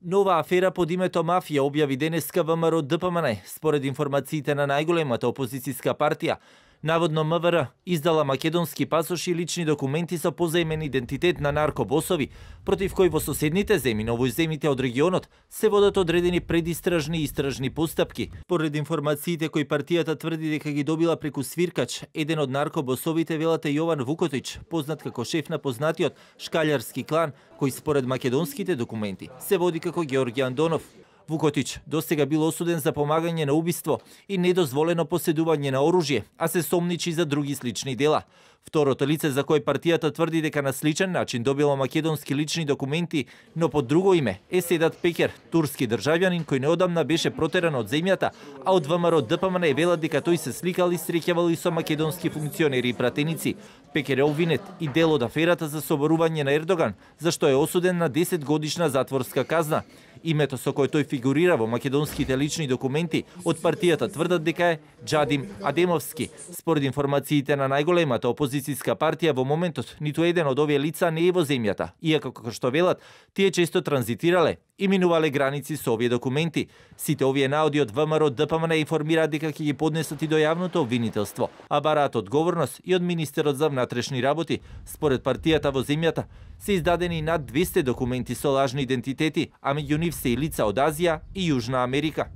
Нова афера под името мафија објави денеска ВМРО ДПМН, според информациите на најголемата опозицијска партија. Наводно МВР издала македонски пасоши и лични документи со позаимен идентитет на наркобосови, против кои во соседните земји, но во земјите од регионот, се водат одредени предистражни и истражни постапки. Поред информациите кои партијата тврди дека ги добила преку свиркач, еден од наркобосовите велате Јован Вукотич, познат како шеф на познатиот шкалјарски клан, кој според македонските документи се води како Георги Андонов. Вукотич досега бил осуден за помагање на убиство и недозволено поседување на оружје, а се сомничи за други слични дела. Второто лице за кој партијата тврди дека на сличен начин добила македонски лични документи, но под друго име е Седат Пекер, турски државјанин кој неодамна беше протеран од земјата, а од ВМРО ДПМН велат дека тој се сликал и среќавал и со македонски функционери и пратеници. Пекер е обвинет и дел од аферата за соборување на Ердоган, за што е осуден на 10 годишна затворска казна. Името со кој тој фигурира во македонските лични документи од партијата тврдат дека е Джадим Адемовски. Според информациите на најголемата опозицијска партија во моментот ниту еден од овие лица не е во земјата, иако како што велат, тие често транзитирале и минувале граници со овие документи. Сите овие наоди од ВМРО ДПМН информираат дека ќе ги поднесат и до јавното обвинителство, а бараат одговорност и од министерот за внатрешни работи. Според партијата во земјата се издадени над 200 документи со лажни идентитети, а меѓу нив се и лица од Азија и Јужна Америка.